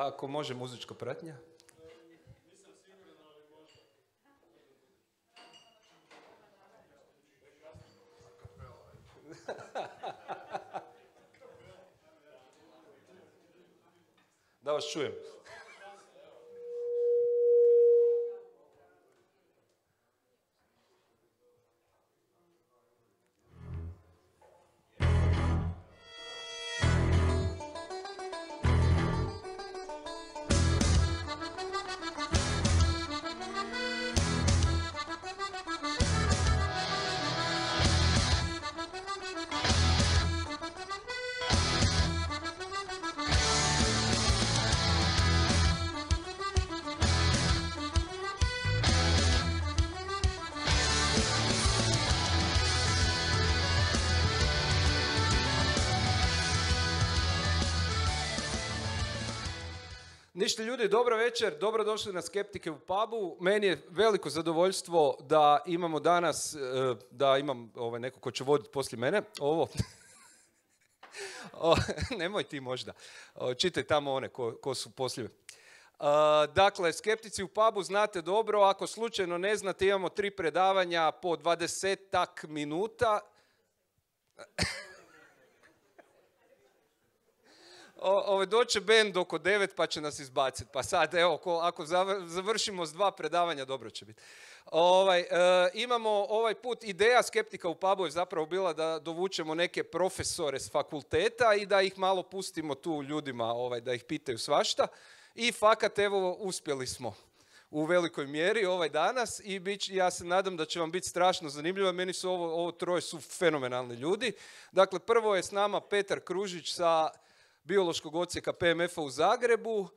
ako može muzička pratnja. Nisam siguran, ali može. Da vas čujem. Ništa ljudi, dobro večer, dobrodošli na Skeptike u pubu. Meni je veliko zadovoljstvo da imamo danas, da imam neko ko će voditi poslije mene. Ovo. Nemoj ti možda. Čitaj tamo one ko su poslije. Dakle, Skeptici u pubu znate dobro, ako slučajno ne znate, imamo 3 predavanja po 20-tak minuta. Doće band oko 9 pa će nas izbaciti. Pa sad, evo, ako završimo s 2 predavanja, dobro će biti. Imamo ovaj put, ideja Skeptika u pubu je zapravo bila da dovučemo neke profesore s fakulteta i da ih malo pustimo tu ljudima, da ih pitaju svašta. I fakat, evo, uspjeli smo u velikoj mjeri danas i ja se nadam da će vam biti strašno zanimljivo. Meni su ovo troje su fenomenalni ljudi. Dakle, prvo je s nama Petar Kružić sa biološkog odsjeka PMF-a u Zagrebu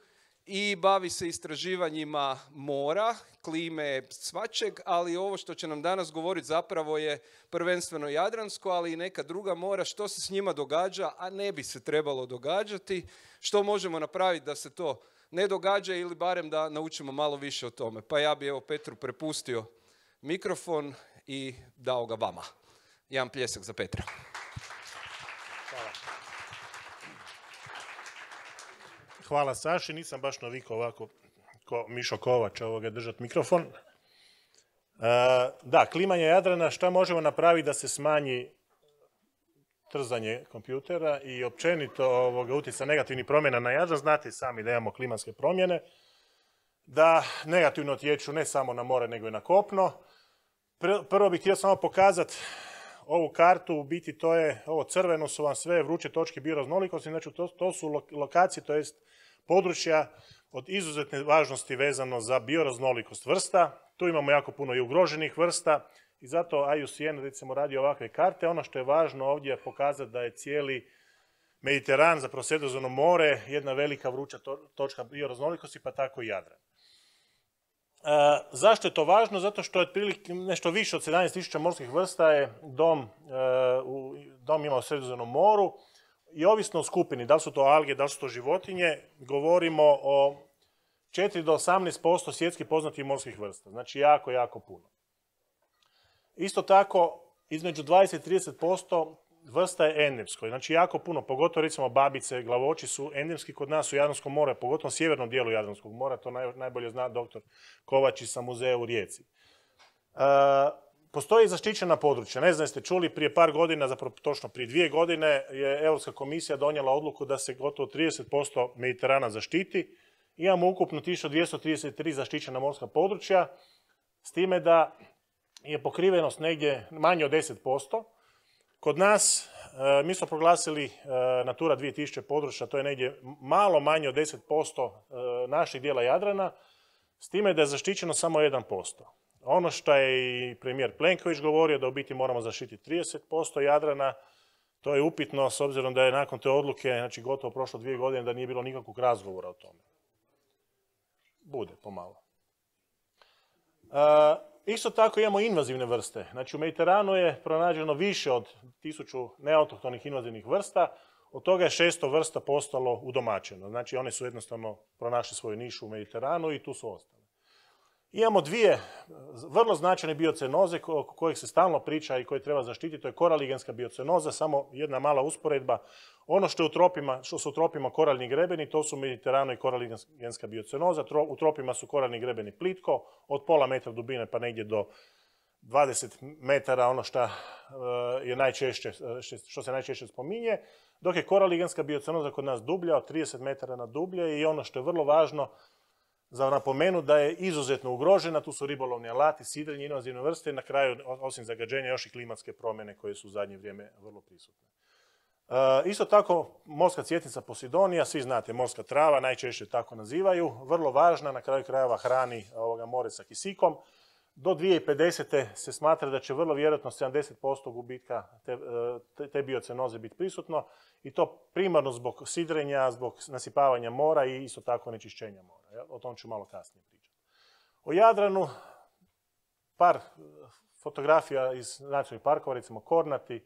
i bavi se istraživanjima mora, klime, svačeg, ali ovo što će nam danas govoriti zapravo je prvenstveno Jadransko, ali i neka druga mora, što se s njima događa, a ne bi se trebalo događati, što možemo napraviti da se to ne događa ili barem da naučimo malo više o tome. Pa ja bi evo Petru prepustio mikrofon i dao ga vama. Jedan pljesak za Petra. Hvala. Hvala Saši, nisam baš navikao ovako ko Mišo Kovač držati mikrofon. Da, klimanje Jadrana, šta možemo napraviti da se smanji trzanje kompjutera i općenito utjecaj negativnih promjena na Jadran. Znate sami da imamo klimatske promjene, da negativno utječu ne samo na more nego i na kopno. Prvo bih htio samo pokazati ovu kartu, u biti to je, ovo crveno su vam sve vruće točke bioraznolikosti, znači to su lokacije, to jest područja od izuzetne važnosti vezano za bioraznolikost vrsta. Tu imamo jako puno i ugroženih vrsta i zato IUCN recimo radi ovakve karte. Ono što je važno ovdje je pokazati da je cijeli Mediteran, zapravo Sredozemno more, jedna velika vruća točka bioraznolikosti, pa tako i Jadran. Zašto je to važno? Zato što je otprilike nešto više od 17.000 morskih vrsta je dom ima u Sredozemnom moru i ovisno o skupini, da li su to alge, da li su to životinje, govorimo o 4 do 18% svjetski poznatih morskih vrsta. Znači jako, jako puno. Isto tako, između 20 i 30% vrsta je endemsko. Znači jako puno, pogotovo recimo babice, glavoči su endemski kod nas u Jadranskom moru, pogotovo u sjevernom dijelu Jadranskog mora, to najbolje zna doktor Kovač sa muzeja u Rijeci. Postoji zaštićena područja. Ne znam, jeste čuli, prije par godina, zapravo točno prije 2 godine, je Europska komisija donijela odluku da se gotovo 30% Mediterana zaštiti. Imamo ukupno 1233 zaštićena morska područja, s time da je pokrivenost negdje manje od 10%. Kod nas, mi smo proglasili Natura 2000 područja, to je negdje malo manje od 10% naših dijela Jadrana, s time da je zaštićeno samo 1%. Ono što je i premijer Plenković govorio, da u biti moramo zaštititi 30% Jadrana, to je upitno s obzirom da je nakon te odluke, znači gotovo prošlo 2 godine, da nije bilo nikakvog razgovora o tome. Bude, pomalo. Isto tako imamo invazivne vrste. Znači u Mediteranu je pronađeno više od 1000 neautohtonih invazivnih vrsta, od toga je 600 vrsta postalo udomaćeno. Znači one su jednostavno pronašli svoju nišu u Mediteranu i tu su ostale. Imamo dvije vrlo značajne biocenoze o kojih se stalno priča i koje treba zaštititi. To je koraligenska biocenoza, samo jedna mala usporedba. Ono što su u tropima koraljni grebeni, to su u Mediteranu i koraligenska biocenoza. U tropima su koraljni grebeni plitko, od pola metra dubine pa negdje do 20 metara, ono što se najčešće spominje, dok je koraligenska biocenoza kod nas dublja, od 30 metara na dublje, i ono što je vrlo važno za napomenu da je izuzetno ugrožena. Tu su ribolovni alati, sidrenje, invazivne vrste i na kraju, osim zagađenja, još i klimatske promjene koje su u zadnje vrijeme vrlo prisutne. Isto tako, morska cvjetnica Posidonija, svi znate, morska trava, najčešće tako nazivaju, vrlo važna, na kraju krajeva hrani more sa kisikom. Do 2050. se smatra da će vrlo vjerojatno 70% gubitka te biocenoze biti prisutno, i to primarno zbog sidrenja, zbog nasipavanja mora i isto tako onečišćenja mora. O tom ću malo kasnije pričati. O Jadranu par fotografija iz nacionalnih parkova, recimo Kornati,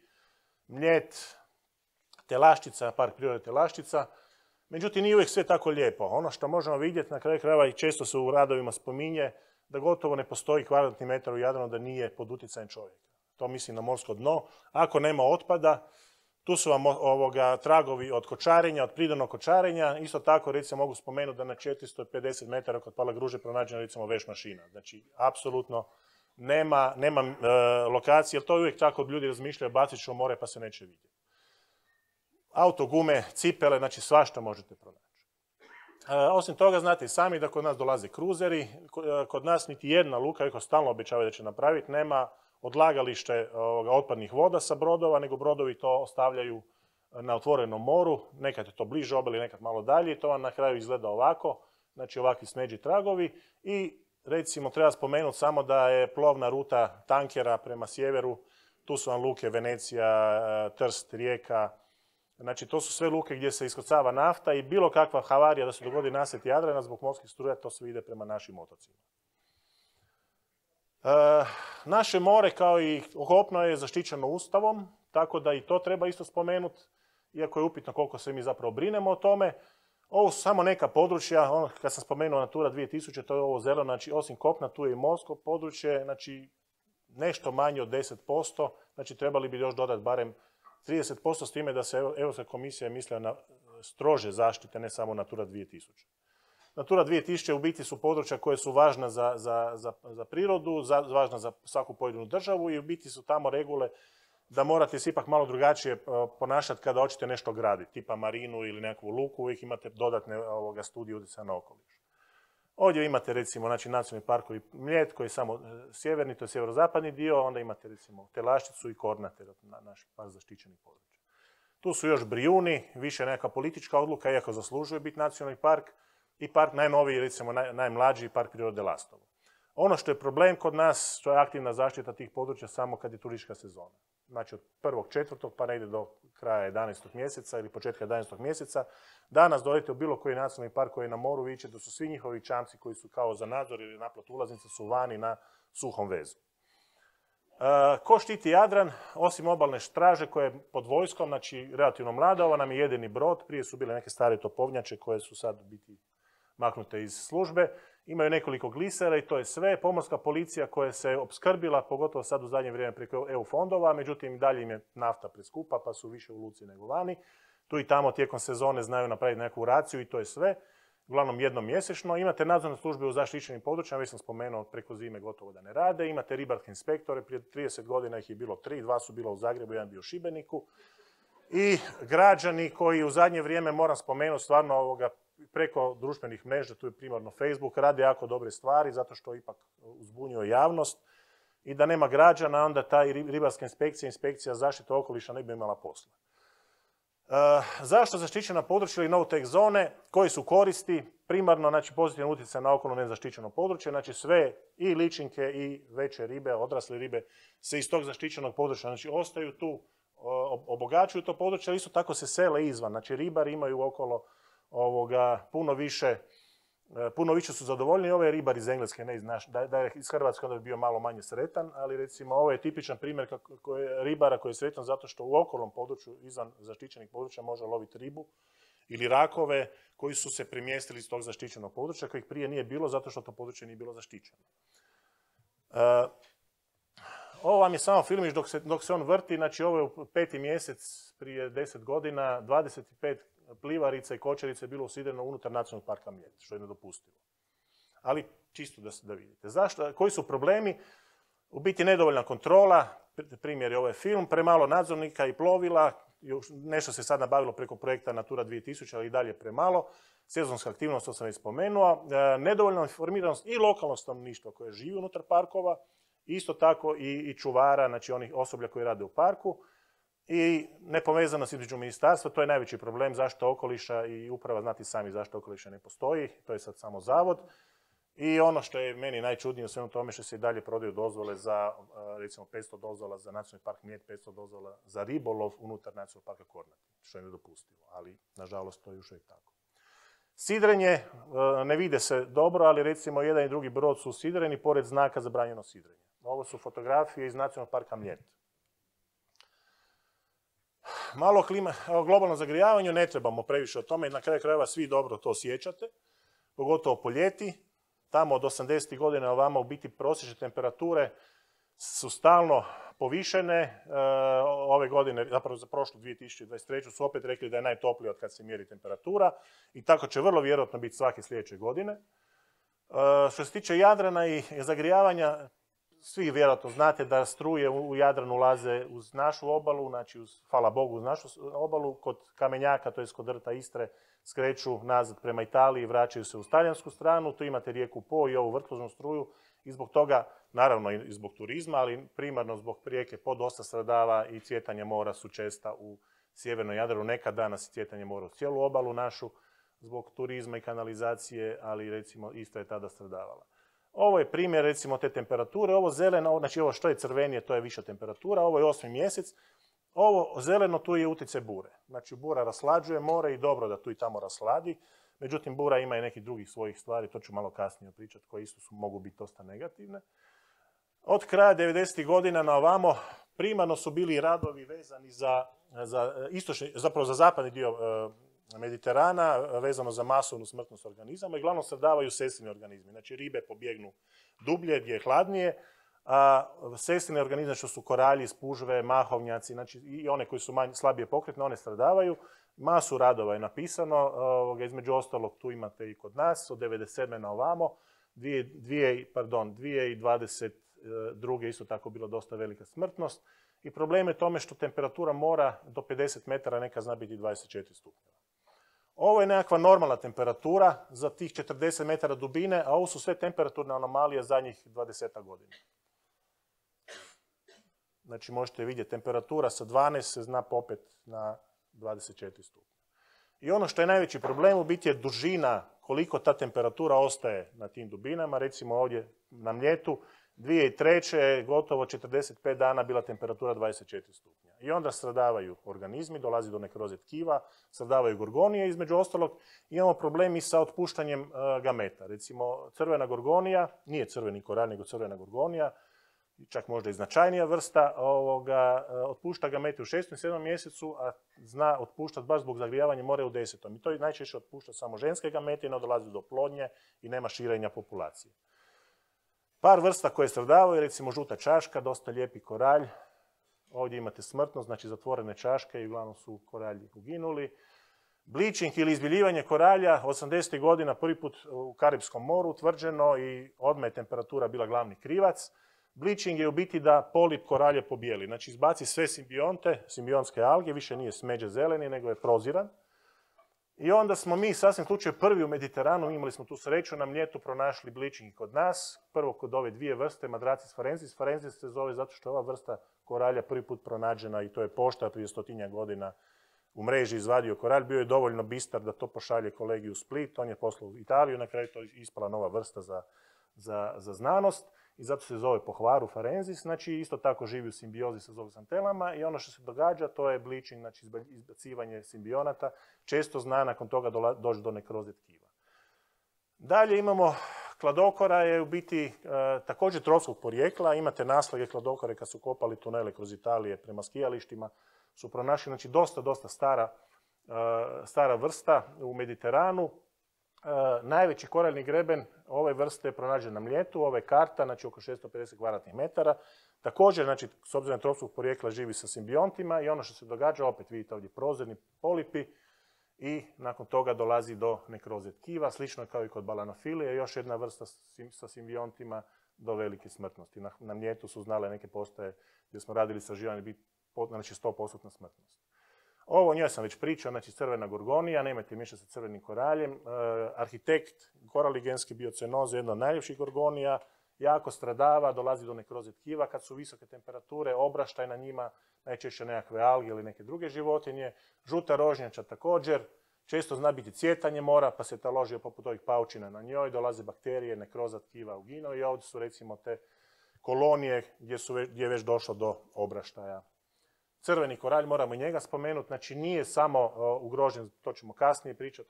Mljet, Telaščica, park prirode Telaščica. Međutim, nije uvijek sve tako lijepo. Ono što možemo vidjeti na kraju krajeva i često se u radovima spominje, da gotovo ne postoji kvadratni metar u Jadranu da nije pod utjecajem čovjeka. To mislim na morsko dno. Ako nema otpada, tu su vam tragovi od kočarenja, od prirodnog kočarenja. Isto tako, recimo, mogu spomenuti da na 450 metara kod Palagruže pronađena, recimo, veš mašina. Znači, apsolutno nema lokacije, jer to uvijek tako ljudi razmišljaju, bacit ću u more pa se neće vidjeti. Auto, gume, cipele, znači svašta možete pronaći. Osim toga, znate i sami da kod nas dolaze kruzeri. Kod nas niti jedna luka, iako stalno obećavaju da će napraviti, nema odlagalište otpadnih voda sa brodova, nego brodovi to ostavljaju na otvorenom moru. Nekad je to bliže obali, nekad malo dalje, i to vam na kraju izgleda ovako, znači ovakvi smeđi tragovi. I recimo treba spomenuti samo da je plovna ruta tankera prema sjeveru, tu su vam luke Venecija, Trst, Rijeka. Znači, to su sve luke gdje se iskrcava nafta i bilo kakva havarija da se dogodi nasjet Jadrana zbog morskih struja, to sve ide prema našim otocima. Naše more, kao i kopno, je zaštićeno Ustavom, tako da i to treba isto spomenuti, iako je upitno koliko se mi zapravo brinemo o tome. Ovo su samo neka područja, kad sam spomenuo Natura 2000, to je ovo zeleno, znači osim kopna tu je i morsko područje, znači nešto manje od 10%, znači trebali bi još dodati barem 30%, s time da se Europska komisija mislila na strože zaštite, ne samo Natura 2000. Natura 2000 u biti su područja koje su važna za prirodu, važna za svaku pojedinu državu, i u biti su tamo regule da morate se ipak malo drugačije ponašati kada hoćete nešto graditi, tipa marinu ili nekakvu luku, uvijek imate dodatne studije utjecaja na okoliš. Ovdje imate recimo nacionalni parkovi Mljet, koji je samo sjeverni, to je sjeverozapadni dio, onda imate recimo Telaščicu i Kornate, naš par zaštićenih područja. Tu su još Brijuni, više neka politička odluka, iako zaslužuje biti nacionalni park, i park najnoviji, recimo najmlađi, park prirode Lastovo. Ono što je problem kod nas, to je aktivna zaštita tih područja samo kad je turistička sezona. Znači od 1.4. pa ne ide do kraja 11. mjeseca ili početka 11. mjeseca. Danas dođete u bilo koji nacionalni park koji je na moru, vidite da su svi njihovi čamci koji su kao za nadzor ili naplatu ulaznice su vani na suhom vezu. Ko štiti Jadran? Osim obalne straže koja je pod vojskom, znači relativno mlada, ovo nam je jedini brod, prije su bile neke stare topovnjače koje su sad biti maknute iz službe. Imaju nekoliko glisera i to je sve. Pomorska policija koja se opskrbila, pogotovo sad u zadnje vrijeme preko EU fondova, međutim dalje im je nafta preskupa pa su više u luci nego vani. Tu i tamo tijekom sezone znaju napraviti neku raciju i to je sve. Uglavnom jednom mjesečno. Imate nadzorne službe u zaštićenim područjima, već sam spomenuo, preko zime gotovo da ne rade. Imate ribarske inspektore, prije 30 godina ih je bilo 3, 2 su bila u Zagrebu, 1 bio u Šibeniku. I građani koji u zadnje vrijeme, moram spomenuti, stvarno preko društvenih mreža, tu je primarno Facebook, rade jako dobre stvari, zato što ipak uzbunjuje javnost. I da nema građana, onda ta ribarska inspekcija, inspekcija zaštite okoliša ne bi imala posla. Zašto zaštićena područja ili no-take zone? Koji su koristi? Primarno, znači, pozitivan utjecaj na okolno nezaštićeno područje, znači sve i ličinke i veće ribe, odrasle ribe se iz tog zaštićenog područja, znači ostaju tu, obogaćuju to područje, ali isto tako se sele izvan. Znači ribari imaju okolo puno više su zadovoljni. Ovo je ribar iz Engleske, ne iz da je iz Hrvatske onda bi bio malo manje sretan, ali recimo ovo je tipičan primjer ribara koji je sretan zato što u okolnom području, izvan zaštićenih područja, može loviti ribu ili rakove koji su se premjestili iz tog zaštićenog područja kojih prije nije bilo zato što to područje nije bilo zaštićeno. Ovo vam je samo filmić dok se on vrti, znači ovo je u 5. mjesec prije 10 godina, 25 plivarica i kočerica je bilo usidreno unutar Nacionalnog parka Mljet, što je nedopustivo. Ali čisto da vidite. Zašto? Koji su problemi? U biti nedovoljna kontrola, primjer je ovaj film, premalo nadzornika i plovila, nešto se sad nabavilo preko projekta Natura 2000, ali i dalje premalo. Sezonska aktivnost, to sam već spomenuo. Nedovoljna informiranost i lokalnog stanovništva koje živi unutar parkova, isto tako i čuvara, znači onih osoblja koji rade u parku. I nepovezanost između ministarstva, to je najveći problem zaštita okoliša i uprava, znati sami zašto okoliša ne postoji, to je sad samo zavod. I ono što je meni najčudnije u svemu tome što se i dalje prodaju dozvole za, recimo 500 dozvola za Nacionalni park Mljet, 500 dozvola za ribolov unutar Nacionalnog parka Kornati, što je nedopustivo, ali nažalost to je još uvijek tako. Sidrenje, ne vide se dobro, ali recimo jedan i drugi brod su sidreni pored znaka zabranjeno sidrenje. Ovo su fotografije iz Nacionalnog parka Mljet. Malo globalno zagrijavanju, ne trebamo previše o tome, na kraju krajeva svi dobro to osjećate, pogotovo po ljeti. Tamo od 80. godina ovamo u biti prosječne temperature su stalno povišene. Ove godine, zapravo za prošlu 2023. su opet rekli da je najtoplije od kad se mjeri temperatura i tako će vrlo vjerojatno biti svake sljedeće godine. Što se tiče Jadrana i zagrijavanja, svi vjerojatno znate da struje u Jadran ulaze uz našu obalu, znači hvala Bogu uz našu obalu, kod Kamenjaka, to je kod rta Istre, skreću nazad prema Italiji i vraćaju se u talijansku stranu. Tu imate rijeku Po i ovu vrtloznu struju i zbog toga, naravno i zbog turizma, ali primarno zbog rijeke Po dosta stradava i cvjetanje mora su česta u sjevernom Jadranu. Nekad danas cvjetanje mora u cijelu obalu našu zbog turizma i kanalizacije, ali recimo isto je tada stradavala. Ovo je primjer recimo te temperature, ovo zeleno, znači ovo što je crvenije to je viša temperatura, ovo je 8. mjesec, ovo zeleno tu je utjecaj bure. Znači bura raslađuje more i dobro da tu i tamo rasladi, međutim bura ima i nekih drugih svojih stvari, to ću malo kasnije pričati, koje isto mogu biti dosta negativne. Od kraja 90. godina na ovamo primarno su bili radovi vezani za zapadni dio Mediterana, vezano za masovnu smrtnost organizama i glavno stradavaju sestrini organizmi. Znači ribe pobjegnu dublje gdje je hladnije, a sestrine organizme što su koralji, spužve, mahovnjaci, znači i one koji su slabije pokretne, one stradavaju. Masu radova je napisano, između ostalog tu imate i kod nas, od 1997. na ovamo, 2022. isto tako bilo dosta velika smrtnost. I problem je tome što temperatura mora do 50 metara neka zna biti 24 stupnjeva. Ovo je nekakva normalna temperatura za tih 40 metara dubine, a ovo su sve temperaturne anomalije zadnjih 20 godina. Znači možete vidjeti, temperatura sa 12 se zna popet na 24 stupnja. I ono što je najveći problem u biti je dužina koliko ta temperatura ostaje na tim dubinama. Recimo ovdje na Mljetu 2003. je gotovo 45 dana bila temperatura 24 stupnja. I onda stradavaju organizmi, dolazi do nekroze tkiva, stradavaju gorgonije. Između ostalog imamo problemi sa otpuštanjem gameta. Recimo crvena gorgonija, nije crveni koralj nego crvena gorgonija, čak možda i značajnija vrsta, otpušta gamete u 6. i 7. mjesecu, a zna otpuštati baš zbog zagrijavanja mora u 10. I to najčešće otpušta samo ženske gamete i ne dolazi do plodnje i nema širenja populacije. Par vrsta koje stradavaju, recimo žuta čaška, dosta lijepi koralj. Ovdje imate smrtnost, znači zatvorene čaške i uglavnom su koralji uginuli. Bleaching ili izbiljivanje koralja, 80. godina prvi put u Karipskom moru utvrđeno i odmah je temperatura bila glavni krivac. Bleaching je u biti da polip koralje pobijeli, znači izbaci sve simbionte, simbionske alge, više nije smeđe zeleni, nego je proziran. I onda smo mi sasvim slučaju prvi u Mediteranu, imali smo tu sreću, na Mljetu pronašli bleaching kod nas, prvo kod ove dvije vrste, Madracis farensis. Farensis se zove zato što je ova vrsta koralja prvi put pronađena i to je pošta prije 100 godina u mreži izvadio koralj, bio je dovoljno bistar da to pošalje kolegi u Split, on je poslao u Italiju, na kraju to je ispala nova vrsta za znanost i zato se zove po hvaru farensis, znači isto tako živi u simbiozi sa zooxantelama i ono što se događa to je bleaching, znači izbacivanje simbionata, često zna nakon toga doći do nekroze tkiva. Dalje imamo kladokora, je u biti također tropskog porijekla, imate naslage kladokore kad su kopali tunele kroz Italije prema skijalištima, su pronašli, znači dosta stara stara vrsta u Mediteranu. Najveći koraljni greben ove vrste je pronađen na Mljetu, ovo je karta, znači oko 650 kvadratnih metara. Također, znači, s obzirom na tropskog porijekla živi sa simbiontima i ono što se događa, opet vidite ovdje prozirni polipi i nakon toga dolazi do nekroze tkiva, slično kao i kod balanofilije, još jedna vrsta sa simbiontima do velike smrtnosti. Na Mljetu su znale neke postaje gdje smo radili istraživanje biti znači 100% smrtnost. Ovo o njoj sam već pričao, znači crvena gorgonija, nemojte miješati sa crvenim koraljem. Arhitekt koraligenski biocenoze, jedna od najljepših gorgonija, jako stradava, dolazi do nekroze tkiva kad su visoke temperature, obraštaj na njima, najčešće nekakve alge ili neke druge životinje. Žuta rožnjača također, često zna biti cvjetanje mora, pa se taložio poput ovih paučina na njoj, dolaze bakterije, nekroza tkiva ugino i ovdje su recimo te kolonije gdje je već došlo do obraštaja. Crveni koralj, moramo i njega spomenuti, znači nije samo ugrožen, to ćemo kasnije pričati,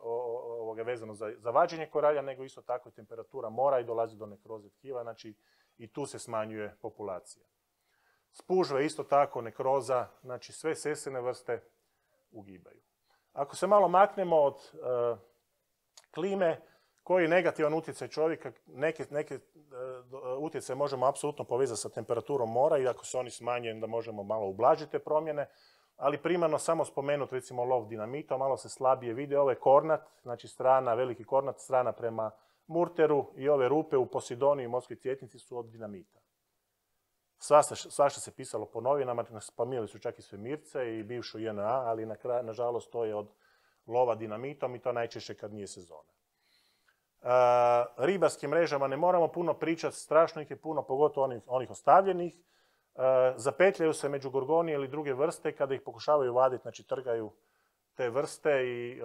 vezano za vađenje koralja, nego isto tako i temperatura mora i dolazi do nekroze tkiva, znači i tu se smanjuje populacija. Spužve isto tako, nekroza, znači sve sesene vrste ugibaju. Ako se malo maknemo od klime, koji je negativan utjecaj čovjeka, neke utjecaje možemo apsolutno povezati sa temperaturom mora i ako se oni smanje, da možemo malo ublažiti te promjene, ali primarno samo spomenuti recimo lov dinamita, malo se slabije vide, ovo je kornat, znači strana, veliki kornat, strana prema Murteru i ove rupe u Posidoniji i Morskoj cvjetnici su od dinamita. Svašta se pisalo po novinama, spominjali su čak i svemirce i bivšu JNA, ali nažalost to je od lova dinamitom i to najčešće kad nije sezona. Ribarskim mrežama ne moramo puno pričati, strašno ih je puno, pogotovo onih ostavljenih. Zapetljaju se među gorgonije ili druge vrste kada ih pokušavaju vaditi, znači trgaju te vrste i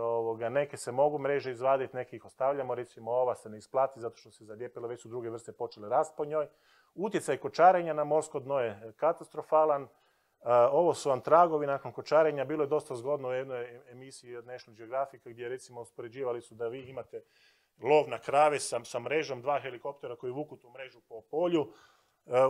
neke se mogu mreže izvaditi, neke ih ostavljamo, recimo ova se ne isplati zato što se zalijepila, već su druge vrste počele rasti po njoj. Utjecaj kočarenja na morsko dno je katastrofalan. Ovo su antragovi nakon kočarenja, bilo je dosta zgodno u jednoj emisiji od National Geographic gdje recimo uspoređivali su da vi imate lov na krave sa mrežom, 2 helikoptera koji vuku tu mrežu po polju.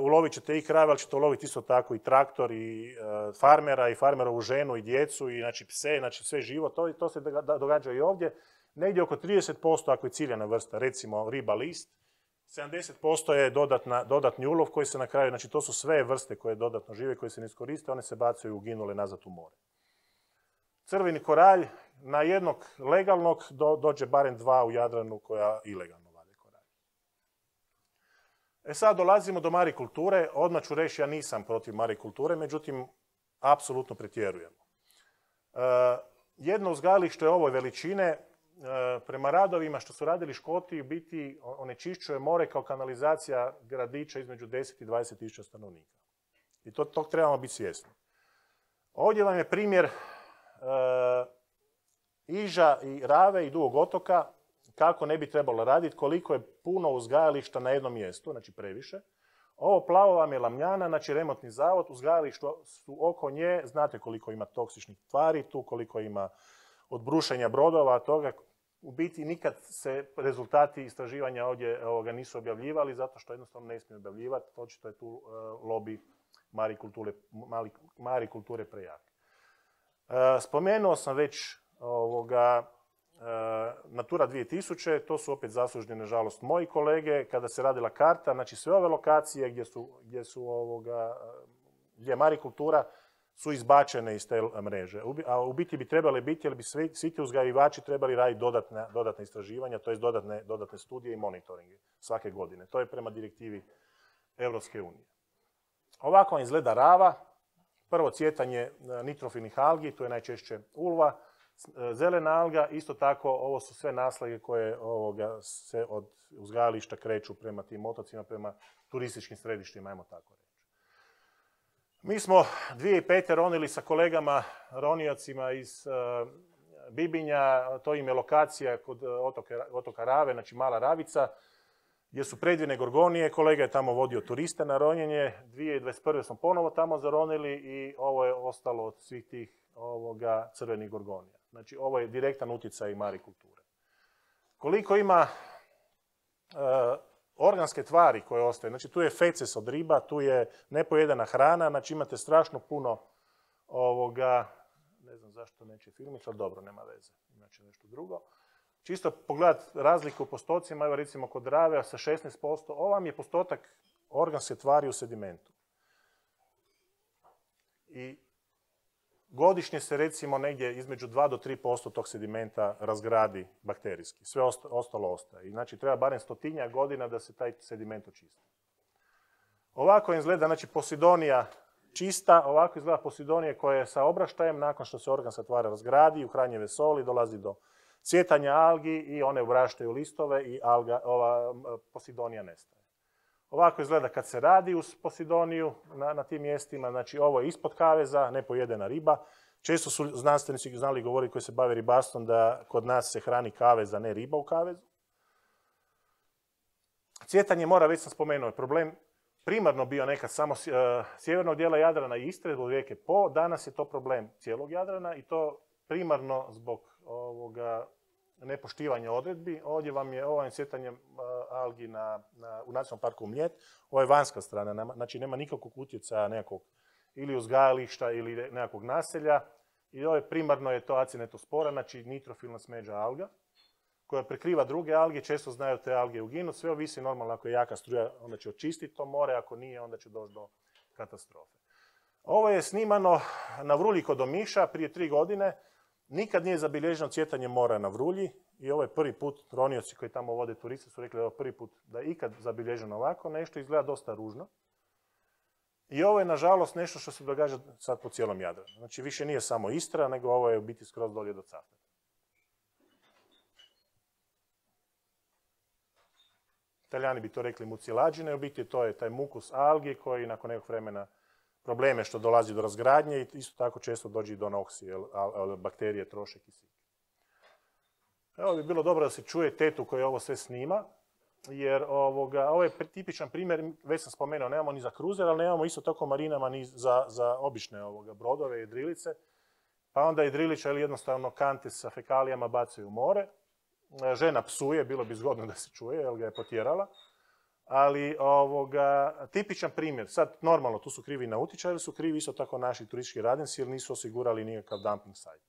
Ulovit ćete i krave, ali ćete uloviti isto tako i traktor, i farmera, i farmerovu ženu, i djecu, i znači pse, znači sve živo. To se događa i ovdje. Negdje oko 30% ako je ciljana vrsta, recimo riba list, 70% je dodatni ulov koji se na kraju, znači to su sve vrste koje dodatno žive, koje se ne iskoriste, one se bacaju uginule nazad u more. Crveni koralj, na jednog legalnog dođe barem 2 u Jadranu koja ilegalno vade koralj. Sad dolazimo do marikulture. Odmah ću reći, ja nisam protiv marikulture, međutim, apsolutno pretjerujemo. Jedno uzgajalište ove veličine, prema radovima što su radili Škoti, biti onečišćuje more kao kanalizacija gradića između 10 i 20 tisuća stanovnika. I tog trebamo biti svjesni. Ovdje vam je primjer Iža i Rave i Dugog otoka, kako ne bi trebalo raditi, koliko je puno uzgajališta na jednom mjestu, znači previše. Ovo plavo vam je Lamljana, znači remontni zavod, uzgajališta su oko nje, znate koliko ima toksičnih tvari tu, koliko ima od brušenja brodova, toga. U biti nikad se rezultati istraživanja ovdje nisu objavljivali, zato što jednostavno ne smiju objavljivati, očito je tu lobby marikulture prejak. Spomenuo sam već Natura 2000, to su opet zaslužni, nažalost, moji kolege, kada se radila karta, znači sve ove lokacije gdje je marikultura su izbačene iz te mreže. A u biti bi trebali biti, jer bi svi ti uzgajivači trebali raditi dodatne istraživanja, to je dodatne studije i monitoringe svake godine. To je prema direktivi Europske unije. Ovako vam izgleda Rava. Prvo cvjetanje nitrofilnih algi, tu je najčešće ulva, zelena alga, isto tako ovo su sve naslage koje se od uzgajališta kreću prema tim otocima, prema turističkim središtima, ajmo tako reći. Mi smo 2005. ronili sa kolegama roniocima iz Bibinja, to im je lokacija kod otoka Rave, znači Mala Ravica, gdje su predivne gorgonije, kolega je tamo vodio turiste na ronjenje, 2021. smo ponovo tamo zaronili i ovo je ostalo od svih tih crvenih gorgonija. Znači ovo je direktan utjecaj marikulture. Koliko ima organske tvari koje ostaju, znači tu je feces od riba, tu je nepojedana hrana, znači imate strašno puno ne znam zašto neće filmić, ali dobro, nema veze, inače nešto drugo. Čisto pogledati razliku u postocima, evo recimo kod Drave sa 16%, ovo vam je postotak organske tvari u sedimentu. I godišnje se recimo negdje između 2 do 3% tog sedimenta razgradi bakterijski. Sve ostalo ostaje. I znači treba barem 100 godina da se taj sediment očisti. Ovako izgleda, znači Posidonija čista, ovako izgleda Posidonija koja je sa obraštajem, nakon što se organska tvar razgradi, u hranjive soli, dolazi do cvjetanja algi i one obraštaju listove i ova Posidonija nestaje. Ovako izgleda kad se radi uz Posidoniju na tim mjestima, znači ovo je ispod kaveza, nepojedena riba. Često su znanstvenici znali govoriti koji se bave ribarstvom da kod nas se hrani kavez, a ne riba u kavezu. Cvjetanje mora, već sam spomenuo, je problem primarno bio nekad samo sjevernog dijela Jadrana i Istre, zbog rijeke Po. Danas je to problem cijelog Jadrana i to primarno zbog nepoštivanja odredbi. Ovdje vam je ovo cvjetanje algi u Nacionalnom parku Mljet. Ovo je vanjska strana, znači nema nikakvog utjecaja nekakvog ili uzgajališta ili nekakvog naselja. I ovo je primarno je to Acinetospora, znači nitrofilna smeđa alga, koja prekriva druge alge, često znaju te alge uginuti. Sve ovisi normalno, ako je jaka struja, onda će očistiti to more, ako nije, onda će doći do katastrofe. Ovo je snimano na Vrulji kod Omiša prije 3 godine. Nikad nije zabilježeno cvjetanje mora na Vrulji i ovo je prvi put, ronioci koji tamo vode turiste su rekli da je ovo prvi put da je ikad zabilježeno ovako nešto, izgleda dosta ružno. I ovo je nažalost nešto što se događa sad po cijelom Jadranu. Znači više nije samo Istra, nego ovo je u biti skroz dolje do Cavtata. Italijani bi to rekli mucilađine, u biti to je taj mukus algi koji nakon nekog vremena probleme što dolazi do razgradnje i isto tako često dođe i do noksije, bakterije troše kisik. Evo bi bilo dobro da se čuje tetu koja ovo sve snima, jer ovo je tipičan primjer, već sam spomenuo, nemamo ni za kruzer, ali nemamo isto tako marinama ni za obične brodove i jedrilice, pa onda jedrilića ili jednostavno kante sa fekalijama bacaju u more. Žena psuje, bilo bi zgodno da se čuje, jer ga je potjerala. Ali tipičan primjer, sad normalno tu su krivi nautičari, su krivi isto tako naši turistički radnici jer nisu osigurali nikakav dumping site.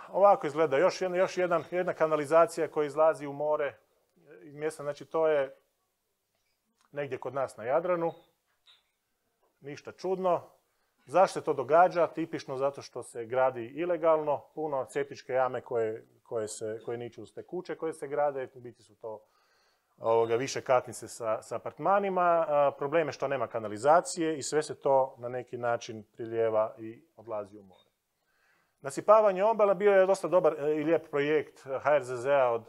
Ovako izgleda još jedna kanalizacija koja izlazi u more iz mjesta, znači to je negdje kod nas na Jadranu, ništa čudno. Zašto se to događa? Tipično zato što se gradi ilegalno, puno septičke jame koje niču uz te kuće koje se grade, u biti su to više katnice sa apartmanima. Problem je što nema kanalizacije i sve se to na neki način prilijeva i odlazi u more. Nasipavanje obala bio je dosta dobar i lijep projekt HRZZ-a od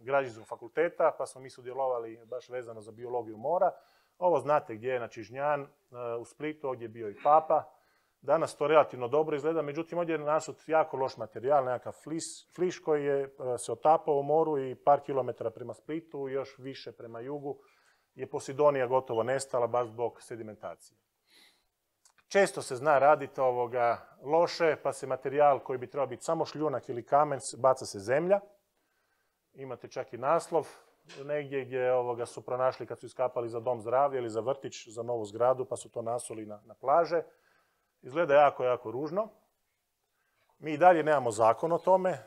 Građevinskog fakulteta, pa smo mi sudjelovali baš vezano za biologiju mora. Ovo znate gdje je, znači Žnjan u Splitu, ovdje je bio i Papa. Danas to relativno dobro izgleda, međutim ovdje je nasut jako loš materijal, nekakav fliš koji je se otapao u moru i par kilometara prema Splitu, još više prema jugu je Posidonija gotovo nestala baš zbog sedimentacije. Često se zna raditi loše, pa se materijal koji bi trebao biti samo šljunak ili kamen, baca se zemlja. Imate čak i naslov negdje gdje su pronašli kad su iskapali za dom zdravlja ili za vrtić, za novu zgradu, pa su to nasuli na plaže. Izgleda jako, jako ružno. Mi i dalje nemamo zakon o tome,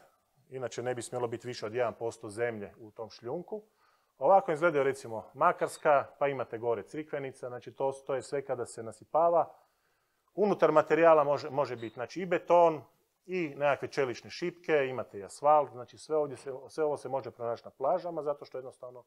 inače ne bi smjelo biti više od 1% zemlje u tom šljunku. Ovako izgledaju recimo Makarska, pa imate gore Crikvenica, znači to je sve kada se nasipava. Unutar materijala može biti znači, i beton, i nekakve čelične šipke, imate i asfalt, znači sve ovo se može pronaći na plažama zato što jednostavno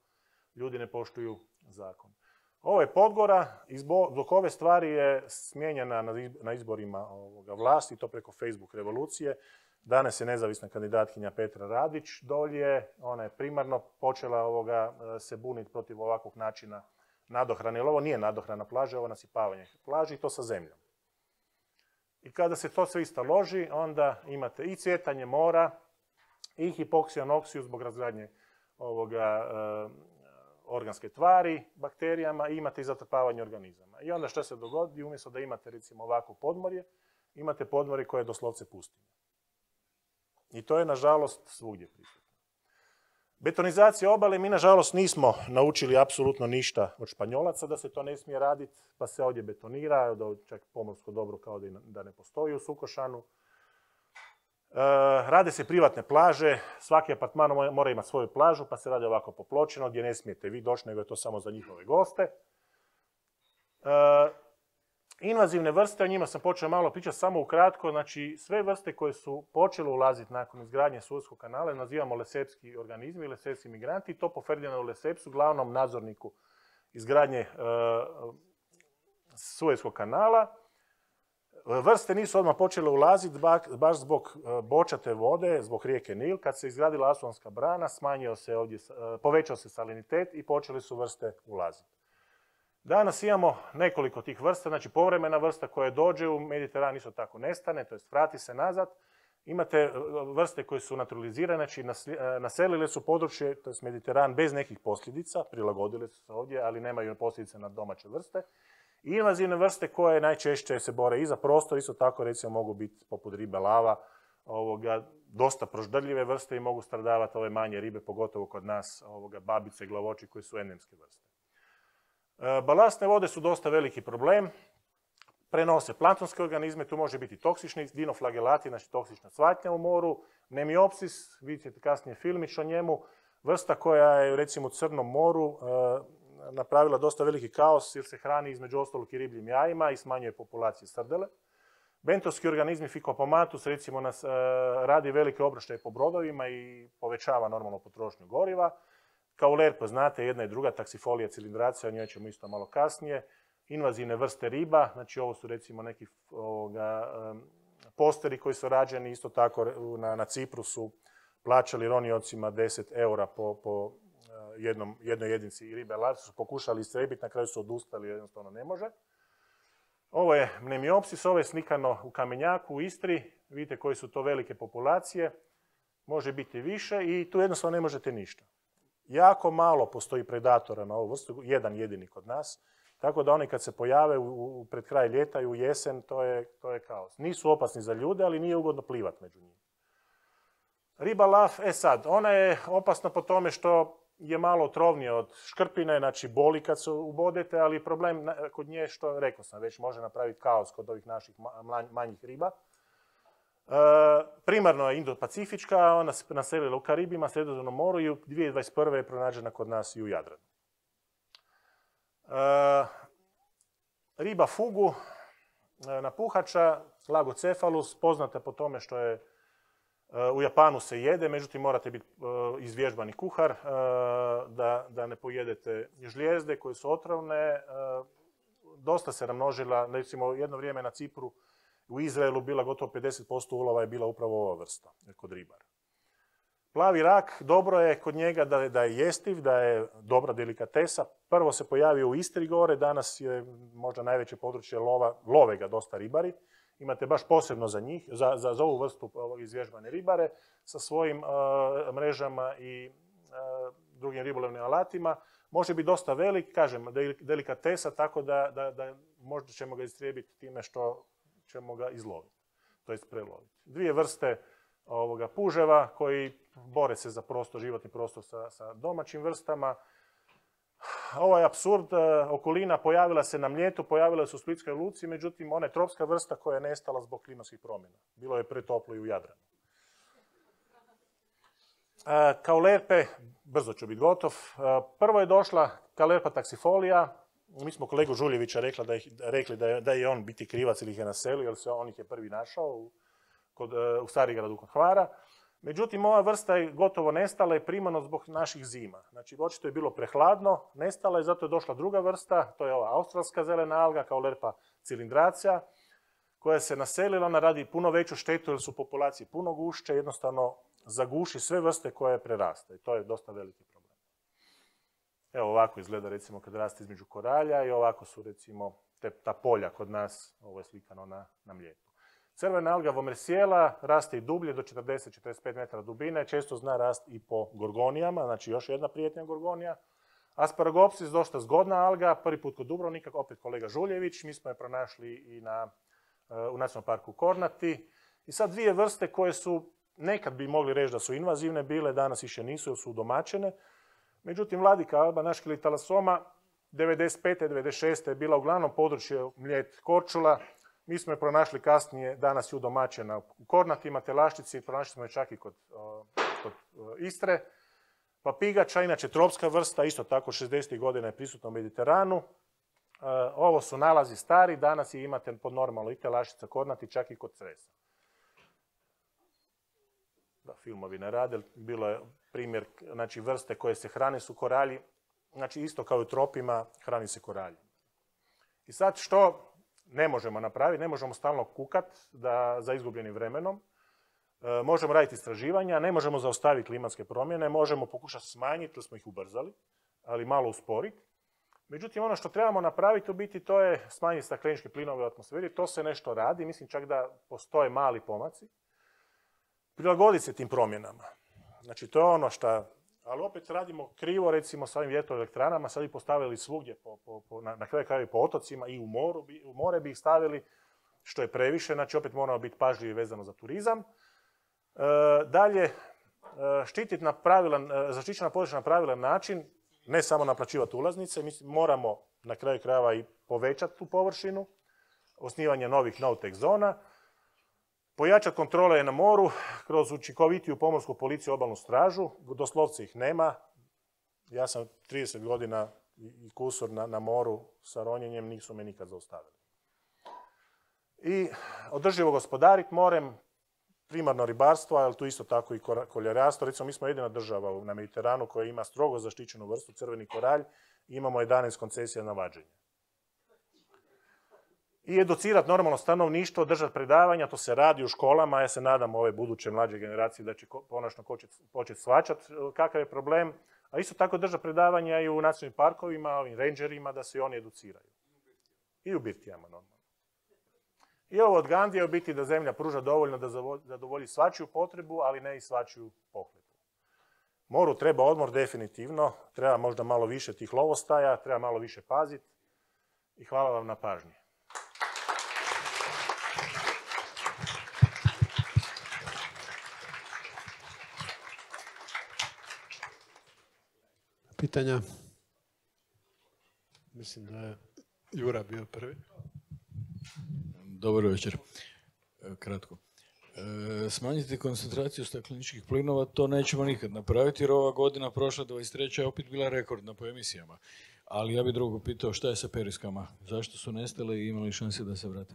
ljudi ne poštuju zakon. Ovo je Podgora, zbog ove stvari je smijenjena na izborima vlasti, to preko Facebook revolucije. Danas je nezavisna kandidatkinja Petra Radić dolje, ona je primarno počela se buniti protiv ovakvog načina nadohrane, jer ovo nije nadohrana plaže, ovo je nasipavanje plaži i to sa zemljom. I kada se to sve istaloži, onda imate i cvjetanje mora, i hipoksijanoksiju zbog razgradnje organske tvari, bakterijama i imate i zatrpavanje organizama. I onda što se dogodi, umjesto da imate recimo ovako podmorje, imate podmorje koje je doslovce pustinja. I to je nažalost svugdje prisutno. Betonizacija obale, mi nažalost nismo naučili apsolutno ništa od Španjolaca da se to ne smije raditi, pa se ovdje betonira, čak pomorsko dobro kao da ne postoji u Sukošanu. Rade se privatne plaže, svaki apartman mora imati svoju plažu, pa se radi ovako popločeno, gdje ne smijete vi doći, nego je to samo za njihove goste. Invazivne vrste, o njima sam počeo malo pričati samo ukratko, znači sve vrste koje su počele ulaziti nakon izgradnje Suezskog kanala nazivamo lesepski organizmi, lesepski migranti, i to po Ferdinandu Lesepsu, glavnom nadzorniku izgradnje Suezskog kanala. Vrste nisu odmah počele ulaziti baš zbog bočate vode, zbog rijeke Nil. Kad se izgradila Asuanska brana, povećao se salinitet i počeli su vrste ulaziti. Danas imamo nekoliko tih vrsta, znači povremena vrsta koja dođe u Mediteran isto tako nestane, to jest vrati se nazad. Imate vrste koje su naturalizirane, znači naselile su područje, to jest Mediteran, bez nekih posljedica, prilagodile su se ovdje, ali nemaju posljedice na domaće vrste. I invazivne vrste koje najčešće se bore i za prostor, isto tako recimo mogu biti poput ribe lava, dosta proždrljive vrste i mogu stradavati ove manje ribe, pogotovo kod nas, babice, glavoči koji su endemske vrste. Balastne vode su dosta veliki problem, prenose planktonske organizme, tu može biti toksični dinoflagelati, znači toksična cvatnja u moru, nemiopsis, vidite ćete kasnije filmić o njemu, vrsta koja je recimo u Crnom moru napravila dosta veliki kaos jer se hrani između ostalog i ribljim jajima i smanjuje populacije srdele. Bentovski organizmi Phycopomatus recimo radi velike obraštaje po brodovima i povećava normalno potrošnju goriva. Kaulerpa, znate, jedna i druga, Taxifolia cilindracija, o njoj ćemo isto malo kasnije. Invazivne vrste riba, znači ovo su recimo neki posteri koji su rađeni, isto tako na Cipru su plaćali roniocima 10 eura po jednoj jedinici ribe lav, su pokušali istrebiti, na kraju su odustali, jednostavno ne može. Ovo je Mnemiopsis, ovo je slikano u Kamenjaku u Istri, vidite koji su to velike populacije, može biti više i tu jednostavno ne možete ništa. Jako malo postoji predatora na ovu vrstu, jedan jedini kod nas, tako da oni kad se pojave pred kraj ljeta i u jesen, to je kaos. Nisu opasni za ljude, ali nije ugodno plivati među njima. Riba lav, sad, ona je opasna po tome što je malo otrovnija od škrpine, znači boli kad se ubodete, ali problem kod nje, što rekao sam već, može napraviti kaos kod ovih naših manjih riba. Primarno je Indo-Pacifička, ona se naselila u Karibima, Sredozemnom moru i u 2021. je pronađena kod nas i u Jadranu. Riba fugu, napuhača, Lagocefalus, poznata po tome što je u Japanu se jede, međutim morate biti izvježbani kuhar da ne pojedete žlijezde koje su otrovne. Dosta se namnožila, recimo jedno vrijeme na Cipru, u Izraelu bila gotovo 50% ulova je bila upravo ova vrsta kod ribara. Plavi rak, dobro je kod njega da je jestiv, da je dobra delikatesa. Prvo se pojavio u Istri gore, danas je možda najveće područje love ga dosta ribari. Imate baš posebno za njih, za ovu vrstu izvježbane ribare sa svojim mrežama i drugim ribolovnim alatima. Može biti dosta velik, kažem, delikatesa, tako da možda ćemo ga istrijebiti time što ćemo ga izloviti, to jest preloviti. Dvije vrste puževa koji bore se za životni prostor sa domaćim vrstama. Ovo je apsurd, okolina pojavila se na Mljetu, pojavila se u Splitskoj luci, međutim ona je tropska vrsta koja je nestala zbog klimatskih promjena. Bilo je pretoplo i u Jadranu. Kaulerpe, brzo ću biti gotov. Prvo je došla Kaulerpa taxifolia. Mi smo kolegu Žuljevića rekli da je on biti krivac ili ih je naselio, jer on ih je prvi našao u Starigradu kod Hvara. Međutim, ova vrsta je gotovo nestala i primarno zbog naših zima. Znači, očito je bilo prehladno, nestala je, zato je došla druga vrsta, to je ova australska zelena alga, Kaulerpa cilindracija, koja se naselila, ona radi puno veću štetu jer su populacije puno gušće, jednostavno zaguši sve vrste koje preraste i to je dosta veliki problem. Evo ovako izgleda recimo kad raste između koralja i ovako su recimo ta polja kod nas, ovo je slikano na Mljetu. Crvena alga Vomersijela raste i dublje do 40-45 metara dubine, često zna rast i po gorgonijama, znači još jedna prijetnja gorgonija. Asparagopsis, dosta zgodna alga, prvi put kod Dubrovnika, opet kolega Žuljević, mi smo je pronašli i u Nacionalnom parku Kornati. I sad dvije vrste koje su nekad bi mogli reći da su invazivne bile, danas više nisu jer su udomaćene. Međutim, Vladika alba, naškili talasoma, 95. 96. je bila uglavnom područje Mljet, Korčula. Mi smo je pronašli kasnije, danas je udomaćena u Kornatima, Telaščici, pronašli smo je čak i kod Istre. Papigača, inače tropska vrsta, isto tako 60. godina je prisutna u Mediteranu. Ovo su nalazi stari, danas je imate pod normalno i Telaščica, Kornati, čak i kod Cresa. Da, filmovi ne rade, bilo je primjer, znači vrste koje se hrane su koralji, znači isto kao i u tropima hrani se koralji. I sad što ne možemo napraviti? Ne možemo stalno kukat za izgubljenim vremenom. Možemo raditi istraživanja, ne možemo zaustaviti klimatske promjene, možemo pokušati smanjiti, jer smo ih ubrzali, ali malo usporiti. Međutim, ono što trebamo napraviti u biti to je smanjiti stakleničke plinove u atmosferi, to se nešto radi, mislim čak da postoje mali pomaci. Prilagoditi se tim promjenama. Znači, to je ono što, ali opet radimo krivo, recimo sa ovim vjetroelektranama, sad bi postavili svugdje, na kraju krajeva po otocima i u more bi ih stavili, što je previše, znači opet moramo biti pažljivi vezano za turizam. Dalje, zaštićena područja na pravilan način, ne samo naplaćivati ulaznice, moramo na kraju krajeva i povećati tu površinu, osnivanje novih no-tech zona, pojačati kontrole na moru kroz učinkovitiju pomorsku policiju, obalnu stražu, doslovce ih nema. Ja sam 30 godina i kusur na moru sa ronjenjem, nisu me nikad zaustavili. I održivo gospodariti morem, primarno ribarstvo, ali tu isto tako i koljarstvo. Recimo, mi smo jedina država na Mediteranu koja ima strogo zaštićenu vrstu crveni koralj i imamo 11 koncesija na vađenje. I educirati normalno stanovništvo, držati predavanja, to se radi u školama, ja se nadam ove buduće mlađe generacije da će konačno početi shvaćati kakav je problem, a isto tako držati predavanja i u nacionalnim parkovima, ovim rangerima, da se i oni educiraju. I u birtijama normalno. I ovo od Gandija u biti da zemlja pruža dovoljno da zadovolji svačiju potrebu, ali ne i svačiju pohlepu. Moru treba odmor definitivno, treba možda malo više tih lovostaja, treba malo više paziti i hvala vam na pažnji. Pitanja? Mislim da je Jura bio prvi. Dobar večer. Kratko. Smanjiti koncentraciju stakleničkih plinova, to nećemo nikad napraviti, jer ova godina prošla 23. je opet bila rekordna po emisijama. Ali ja bih drugo pitao, šta je sa periskama? Zašto su nestale i imali šanse da se vrate?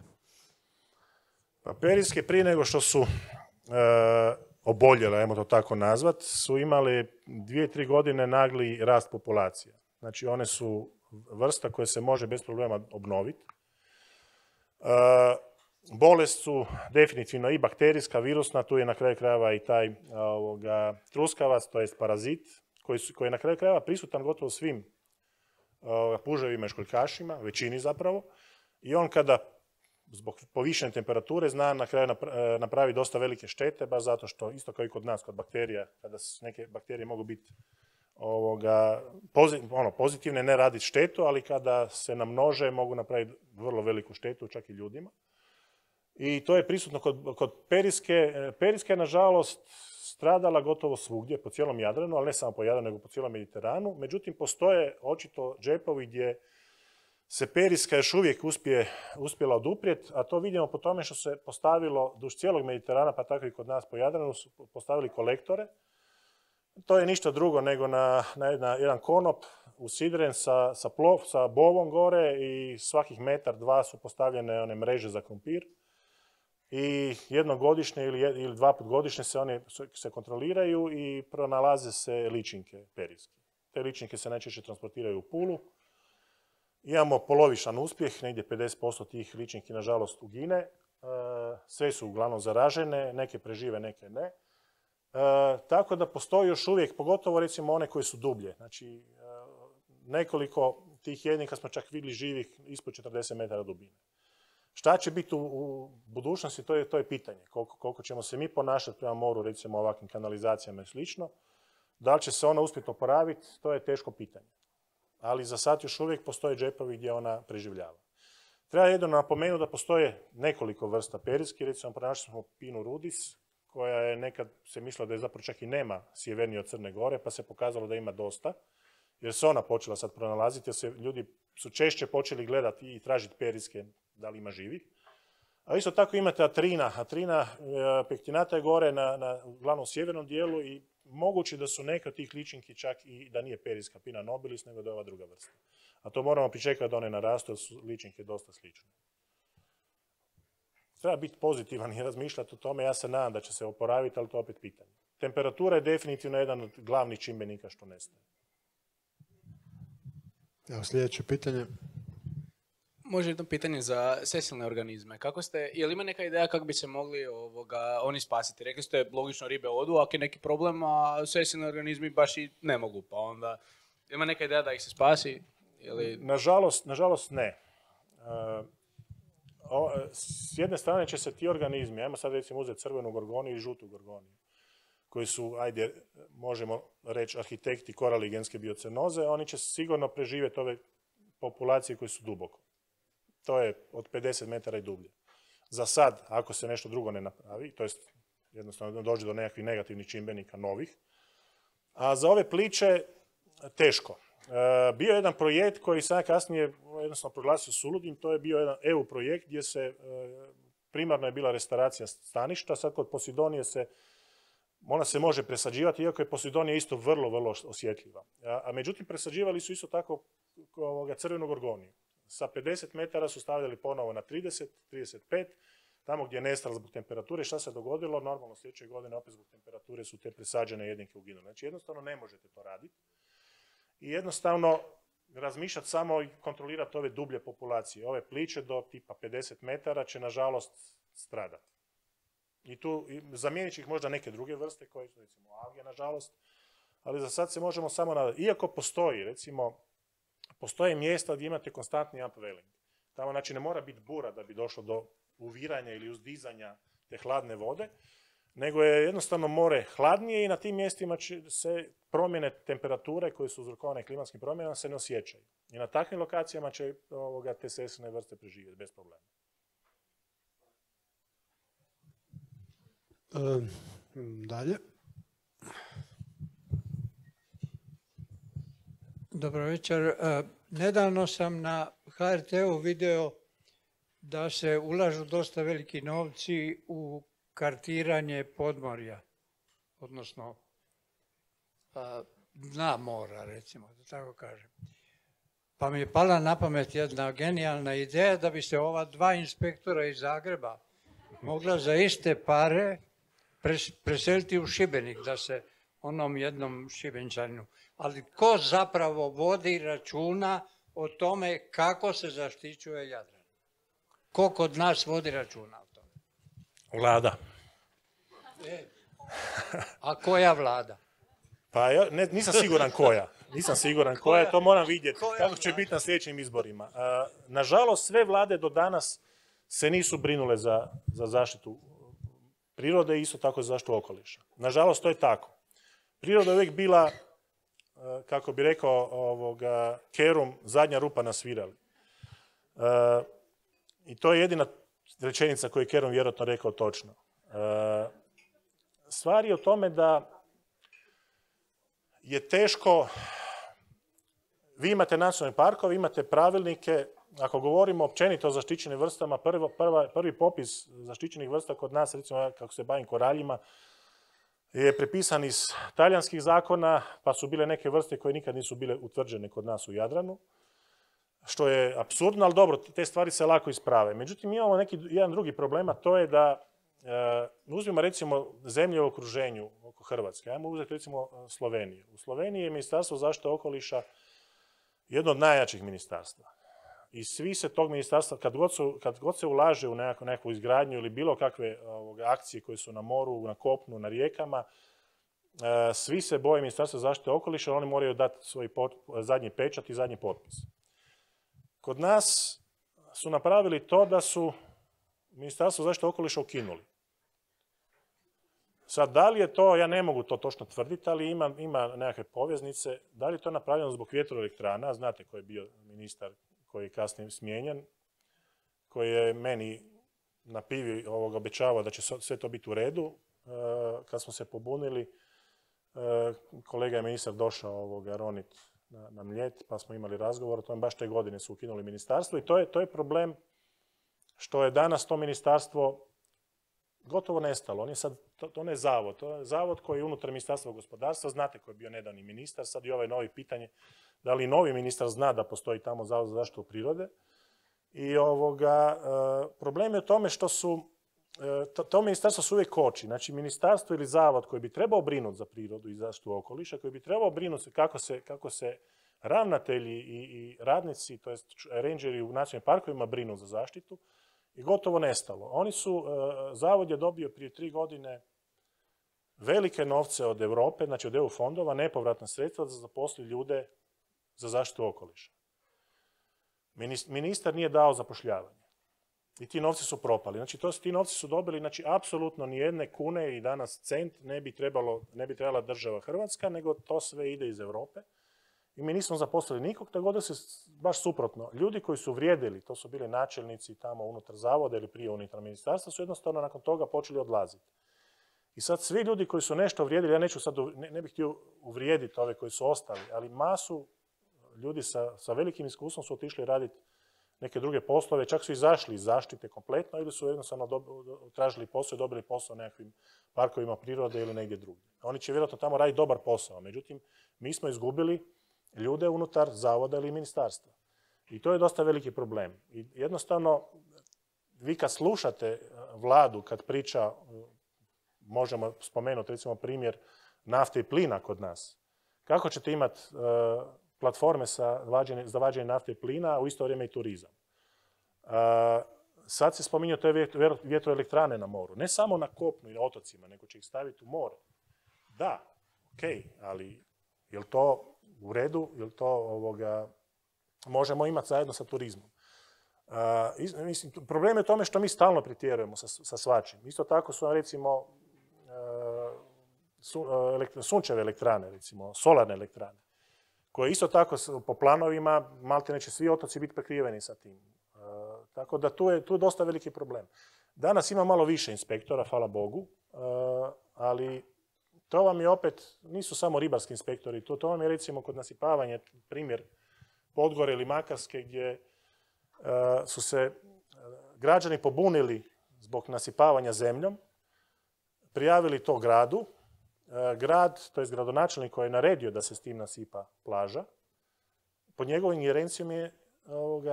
Pa periske prije nego što su oboljele, ajmo to tako nazvat, su imali 2-3 godine nagli rast populacija. Znači one su vrsta koja se može bez problema obnoviti. Bolest su definitivno i bakterijska, virusna, tu je na kraju krajeva i taj truskavac, to jest parazit, koji je na kraju krajeva prisutan gotovo svim puževima i školjkašima, većini zapravo, i on kada zbog povišene temperature zna na kraju napravi dosta velike štete, baš zato što, isto kao i kod nas, kod bakterija, kada neke bakterije mogu biti pozitivne, ne raditi štetu, ali kada se namnože mogu napraviti vrlo veliku štetu, čak i ljudima. I to je prisutno kod periske. Periska je, nažalost, stradala gotovo svugdje, po cijelom Jadranu, ali ne samo po Jadranu, nego po cijelom Mediteranu. Međutim, postoje očito džepovi gdje se periska još uvijek uspjela oduprijeti, a to vidimo po tome što se postavilo duž cijelog Mediterana, pa tako i kod nas po Jadranu, su postavili kolektore. To je ništa drugo nego na jedan konop usidren sa bovom gore i svakih metar, dva su postavljene one mreže za krompir. I jednom godišnje ili 2 puta godišnje se kontroliraju i pronalaze se ličinke periske. Te ličinke se najčešće transportiraju u Pulu. Imamo polovičan uspjeh, negdje 50% tih ličinki nažalost ugine. Sve su uglavnom zaražene, neke prežive, neke ne. Tako da postoji još uvijek, pogotovo recimo one koje su dublje. Znači, nekoliko tih jednika smo čak vidjeli živih ispod 40 metara dubine. Šta će biti u budućnosti, to je pitanje. Koliko ćemo se mi ponašati prema moru, recimo ovakvim kanalizacijama i slično. Da li će se ona uspjeti oporaviti, to je teško pitanje. Ali za sad još uvijek postoje džepovi gdje ona preživljava. Treba jedno napomenuti da postoje nekoliko vrsta periski, recimo pronašli smo Pinus rudis, koja je nekad se mislila da je zapravo čak i nema sjevernije od Crne Gore, pa se pokazalo da ima dosta, jer se ona počela sad pronalaziti, jer se ljudi su češće počeli gledati i tražiti periske, da li ima živih. A isto tako imate Atrina. Atrina pektinata je gore na glavnom sjevernom dijelu i moguće da su neke od tih ličinki čak i da nije periska Pinna nobilis, nego da je ova druga vrsta. A to moramo pričekati da one narastu, jer su ličinke dosta slične. Treba biti pozitivan i razmišljati o tome. Ja se nadam da će se oporaviti, ali to je opet pitanje. Temperatura je definitivno jedan od glavnih čimbenika što nestaje. Evo sljedeće pitanje. Može jedno pitanje za sesilne organizme. Je li ima neka ideja kako bi se mogli oni spasiti? Rekli ste, logično ribe odu, ako je neki problem, a sesilni organizmi baš i ne mogu. Pa onda, ima neka ideja da ih se spasi? Nažalost ne. S jedne strane će se ti organizmi, ajmo sad recimo uzeti crvenu gorgoniju i žutu gorgoniju, koji su, ajde, možemo reći, arhitekti koraligenske biocenoze, oni će sigurno preživjeti ove populacije koje su duboko. To je od 50 metara i dublje. Za sad, ako se nešto drugo ne napravi, to jest jednostavno dođe do nekakvih negativnih čimbenika novih, a za ove pliće teško. Bio je jedan projekt koji sam kasnije jednostavno proglasio suludim, to je bio jedan EU projekt gdje se primarno je bila restauracija staništa, sad kod Posidonije ona se može presađivati, iako je Posidonija isto vrlo, vrlo osjetljiva. A međutim, presađivali su isto tako crvenu gorgoniju. Sa 50 metara su stavljali ponovo na 30, 35, tamo gdje je nestala zbog temperature. Šta se dogodilo? Normalno sljedeće godine opet zbog temperature su te presađene jedinke uginule. Znači jednostavno ne možete to raditi. I jednostavno razmišljati samo i kontrolirati ove dublje populacije. Ove pliće do tipa 50 metara će nažalost stradati. I tu zamijenit će ih možda neke druge vrste koje su recimo alge nažalost, ali za sad se možemo samo nadati. Iako postoji, recimo, postoje mjesta gdje imate konstantni upwelling. Tamo znači ne mora biti bura da bi došlo do uviranja ili uzdizanja te hladne vode, nego je jednostavno more hladnije i na tim mjestima će se promjene temperature koje su uzrokovane klimatskim promjenama se ne osjećaju. I na takvim lokacijama će te sesilne vrste preživjeti bez problema. Dalje. Dobro večer. Nedavno sam na HRT-u video da se ulažu dosta veliki novci u kartiranje podmorja, odnosno dna mora, recimo, da tako kažem. Pa mi je pala na pamet jedna genijalna ideja da bi se ova dva inspektora iz Zagreba mogla za iste pare preseliti u Šibenik, da se onom jednom Šibenčaninu. Ali ko zapravo vodi računa o tome kako se zaštićuje Jadran? Ko kod nas vodi računa o tome? Vlada. A koja vlada? Pa nisam siguran koja. Nisam siguran koja, to moram vidjeti kako će biti na sljedećim izborima. Nažalost, sve vlade do danas se nisu brinule za zaštitu prirode i isto tako za zaštitu okoliša. Nažalost, to je tako. Priroda je uvijek bila, kako bi rekao Kerum, zadnja rupa na svirali. I to je jedina rečenica koju je Kerum vjerojatno rekao točno. Stvar je o tome da je teško, vi imate nacionalne parkove, imate pravilnike, ako govorimo općenito o zaštićenim vrstama, prvi popis zaštićenih vrsta kod nas, recimo kako se bavim koraljima, je prepisan iz talijanskih zakona, pa su bile neke vrste koje nikad nisu bile utvrđene kod nas u Jadranu, što je apsurdno, ali dobro, te stvari se lako isprave. Međutim, imamo jedan drugi problem, a to je da uzmimo recimo zemlje u okruženju oko Hrvatske. Ajmo uzeti recimo Sloveniju. U Sloveniji je Ministarstvo zaštite okoliša jedno od najjačih ministarstva. I svi se tog ministarstva, kad god se ulaže u nekakvu izgradnju ili bilo kakve akcije koje su na moru, na kopnu, na rijekama, svi se boje Ministarstva zaštite okoliša, oni moraju dati svoj zadnji pečat i zadnji potpis. Kod nas su napravili to da su Ministarstvo zaštite okoliša ukinuli. Sad, da li je to, ja ne mogu to točno tvrditi, ali ima nekakve poveznice, da li je to napravljeno zbog vjetroelektrana, znate ko je bio ministar koji je kasnije smijenjen, koji je meni na pivi obećavao da će sve to biti u redu. kad smo se pobunili, kolega je ministar došao ronit na Mljet, pa smo imali razgovor o tome, baš te godine su ukinuli ministarstvo i to je problem što je danas to ministarstvo gotovo nestalo. On je sad, to ne je zavod, to je zavod koji je unutar Ministarstva gospodarstva, znate koji je bio nedavni ministar, sad i ovaj novi pitanje, da li novi ministar zna da postoji tamo Zavod za zaštitu prirode. I problem je u tome što su, to ministarstvo se uvijek koči. Znači, ministarstvo ili zavod koji bi trebao brinuti za prirodu i zaštitu okoliša, koji bi trebao brinuti kako se ravnatelji i radnici, to jest rangeri u nacionalnim parkovima brinu za zaštitu, i gotovo nestalo. Zavod je dobio prije 3 godine velike novce od Europe, znači od EU fondova, nepovratna sredstva da zaposli ljude za zaštitu okoliša. Ministar nije dao zapošljavanje. I ti novci su propali. Znači, ti novci su dobili, znači, apsolutno ni jedne kune i danas cent ne bi trebala država Hrvatska, nego to sve ide iz Europe. I mi nismo zaposlili nikog, tako da se baš suprotno. Ljudi koji su vrijedili, to su bili načelnici tamo unutar zavoda ili prije unutar ministarstva, su jednostavno nakon toga počeli odlaziti. I sad svi ljudi koji su nešto vrijedili, ja ne bih htio uvrijediti ove koji su ostali, ali masu ljudi sa velikim iskustvom su otišli raditi neke druge poslove, čak su izašli iz zaštite kompletno ili su jednostavno tražili posao i dobili posao u nekakvim parkovima prirode ili negdje drugdje. Oni će vjerojatno tamo raditi dobar posao, međutim, mi smo izgubili ljude unutar zavoda ili ministarstva. I to je dosta veliki problem. I jednostavno, vi kad slušate vladu, kad priča, možemo spomenuti recimo primjer nafte i plina kod nas, kako ćete imati platforme za vađenje nafte i plina, a u isto vrijeme i turizam. Sad se spominju te vjetroelektrane na moru. Ne samo na kopnu i na otocima, nego će ih staviti u more. Da, okej, ali je li to u redu? Je li to možemo imati zajedno sa turizmom? Problem je u tome što mi stalno pretjerujemo sa svačim. Isto tako su recimo sunčeve elektrane, recimo solarne elektrane, koje isto tako po planovima, malte neće svi otoci biti prekriveni sa tim. Tako da tu je dosta veliki problem. Danas ima malo više inspektora, hvala Bogu, ali to vam je opet, nisu samo ribarski inspektori, to vam je recimo kod nasipavanja, primjer Podgore ili Makarske, gdje su se građani pobunili zbog nasipavanja zemljom, prijavili to gradu. Grad, to je gradonačelnik koji je naredio da se s tim nasipa plaža, pod njegovom ingerencijom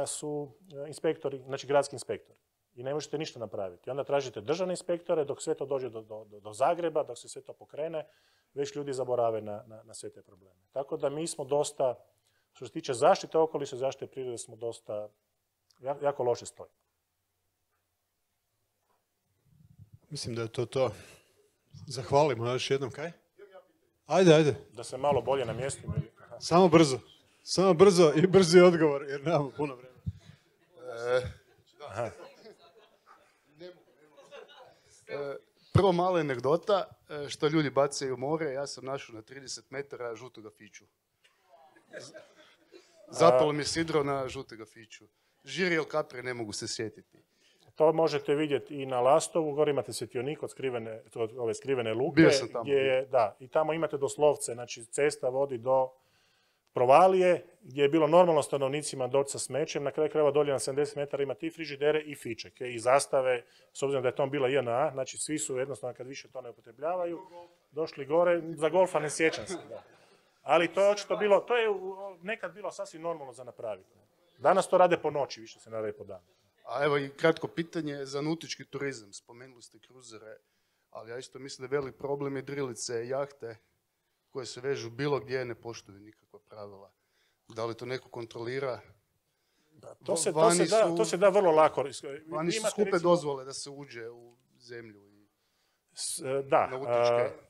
su inspektori, znači gradski inspektori. I ne možete ništa napraviti. I onda tražite državne inspektore, dok sve to dođe do Zagreba, dok se sve to pokrene, već ljudi zaborave na sve te probleme. Tako da mi smo dosta, što se tiče zaštite okoliša, zaštite prirode, smo dosta, jako loše stoji. Mislim da je to. Zahvalimo još jednom, kaj? Ajde. Da se malo bolje namjestimo. Samo brzo i brzi odgovor, jer nemamo puno vremena. Prvo mala anegdota, što ljudi bacaju u more, ja sam našao na 30 metara žutoga fiću. Zapalo mi je sidro na žutega fiću. Žiri ili kapre ne mogu se sjetiti. To možete vidjeti i na Lastovu, gore imate svjetionik od ove skrivene luke. Bio sam tamo. I tamo imate doslovce, znači cesta vodi do provalije, gdje je bilo normalno stanovnicima doći sa smećem, na kraju krajeva dolje na 70 metara ima i frižidere i fičeke i zastave, s obzirom da je to bila JNA, znači svi su jednostavno kad više to ne upotrebljavaju, došli gore, za golfa ne sjećam se. Da. Ali to je očito bilo, to je nekad bilo sasvim normalno za napraviti. Danas to rade po noći, više se ne rade po danu. A evo i kratko pitanje za nautički turizam. Spomenuli ste kruzere, ali ja isto mislim da je velik problem je drilice, jahte koje se vežu bilo gdje, ne poštuju nikakva pravila. Da li to neko kontrolira? To se da vrlo lako. Vani su skupe dozvole da se uđe u zemlju i nautičke.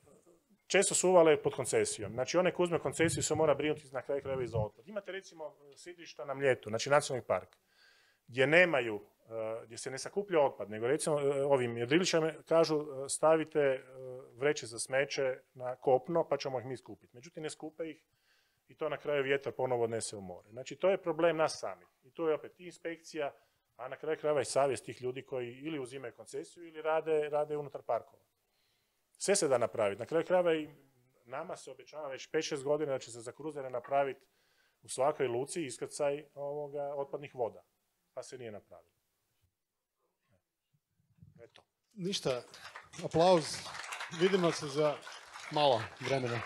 Često su uvale pod koncesijom. Znači, onaj ko uzme koncesiju se mora brinuti na kraju krajeva i za otpad. Imate recimo sidrišta na Mljetu, znači nacionalni park, gdje se ne sakuplja otpad, nego recimo ovim jedriličama kažu stavite vreće za smeće na kopno pa ćemo ih mi skupiti. Međutim, ne skupe ih i to na kraju vjetar ponovo odnese u more. Znači, to je problem nas samih. I tu je opet i inspekcija, a na kraju krajeva i savjest tih ljudi koji ili uzimaju koncesiju ili rade unutar parkova. Sve se da napraviti. Na kraju krajeva i nama se obećava već 5-6 godina da će se za kruzere napraviti u svakoj luci iskrcaj otpadnih voda. Pa se nije napravilo. Eto. Ništa, aplauz. Vidimo se za malo vremena.